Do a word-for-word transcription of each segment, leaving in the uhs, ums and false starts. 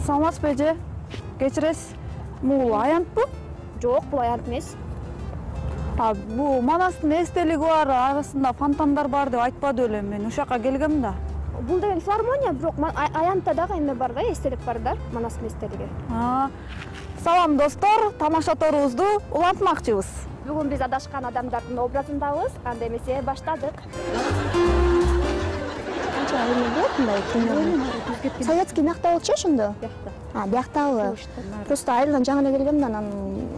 саламатсызбы эже? Кечиресиз. Бул аянтпы? Жок, бул аянт эмес. А бул Манастын эстелиги бар, арасында фонтандар бар деп айтпады эле, мен ушул жака келгем да. Бул деген филармония, бирок аянтта дагы эме бар да, эстелик бар да, Манастын эстелиги. Салам достор, тамаша торубузду улантмакчыбыз. Бүгүн биз адашкан адамдардын образындабыз, анда эмесе баштадык. Канча эме болот мындай примерно? Советский мякта болчу ошондо? Бияқта. А, бияктабы? Просто айылдан жаңы эле келгем да, анан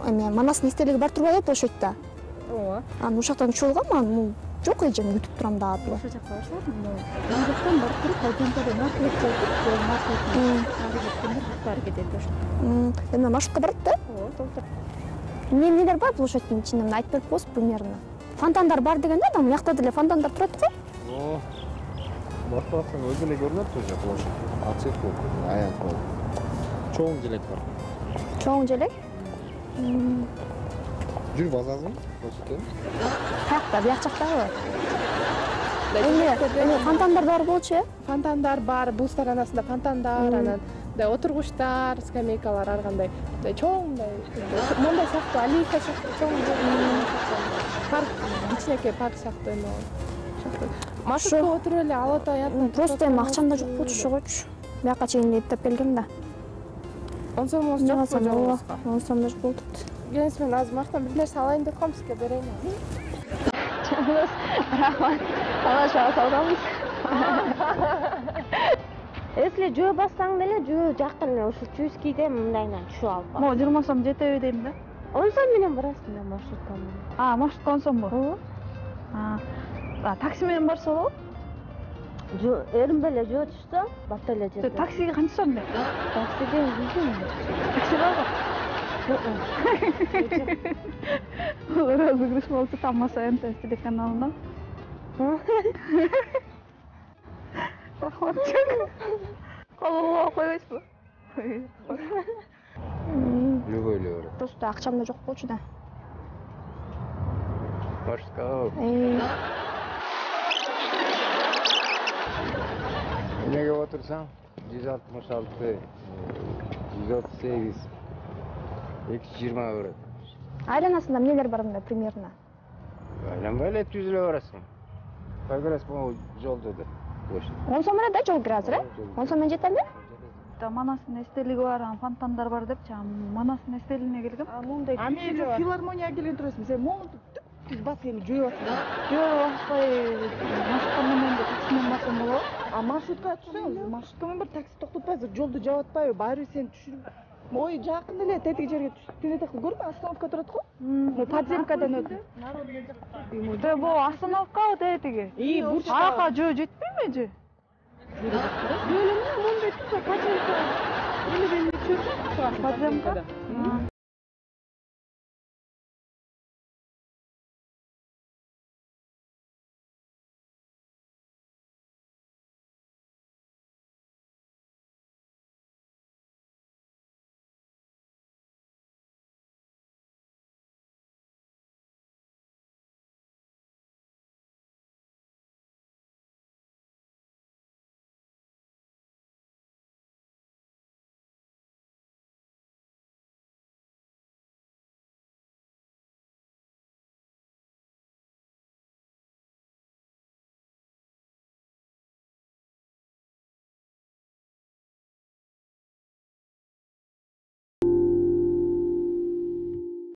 эме Манастын эстелиги бар турбай атат ошойт да. Ооба. Анан ушул жактан чыгып алгам, анан жок эжем күтүп турам да атып. Ошол жакка барсак, мына жактан барып туруп, айдентада маршрут болуп, жол маршрутун ары кеткенде буктары кетет ошо. Эме маршрутка барат да? Ооба, толтур. Эмне эмнелер бар площадьтын ичинде, мына айтып берип коесуз примерно. Фонтандар бар деген да, анан мякта деле фонтандар турат го. О. Баштасаң өзү эле көрүнөт уже площадь. Ачык болуп, аянт болуп. Чоң желек бар. Чоң желек? Жүрүп азазбы? Көрсөтөм. Каякта, бияк жактабы? Эме, эме фонтандар бар болчу, э? Фонтандар бар, бул сторонасында фонтандар, анан мындай отургучтар, скамейкалар ар кандай. Мындай чоң мындай, мондай сыяктуу аллейка сыяктуу чоң парк, кичинекей парк сыяктуу эме болот. Маршрутка отуруп эле алып аянтын. Просто эми акчам да жок болчу, ошогочу. Бияка чейин эптеп келгем да. он сомуңуз жокпу жолуңузга? он сом да жок болуп. Келиңиз, мен азыр мактан бир нерсе алайын деп калам, сизге берейин. Рахмат. Алаша салганбыз. Если жөө бассаң деле, жөө жакын эле ушу Чуйскийде мындайынан түшүп алып бар. Могу жыйырма сом жетеби дейм да. он сом менен барасың да маршрутканы. А, маршрутка он сомбу? Ооба. А, такси менен барса болобу? Жөө, эринбей эле жөө түшсө, бата эле жерде. Таксиге канча сом дейм? Таксиге жүз. Такси барбы? Розыгрыш болчу, тамаша эн тэ телеканалында. Колго койбойсузбу? Любой эле бар. Просто акчам да жок болчу да. Башка. Эмнеге отурсаң? жүз алтымыш алты, жүз отуз сегиз, эки жүз жыйырма берет. Айланасында эмнелер бар мында примерно? Айланбай эле түзүлө барасың. Кай көрөсүң могу жолду да. он сом эле да жол кире азыр, э? он сом менен жетеби? Манастын эстелиги бар, фонтандар бар депчи, Манастын эстелигине келгем. А мындай күчү филармонияга келген турасың, сен могу түз бас эми жөө атасың. Жөө баспай, маршрутка менен де такси менен барсам болобу? А маршрутка түшсөң, маршрутка менен бир такси токтотпайсың, жолду жаап атпайбы? Баары бир сени түшүрүп. Ой, жакын эле тетиги жерге түшүп көрдүңбү? Остановка турат го? Му подземкадан өтүп. Дэ бу остановкабы тетиги? И, бурчта. Ага, жөө жетпейби же? Жөө эле мондай турса, подземка. Эле бени чөп. Подземка?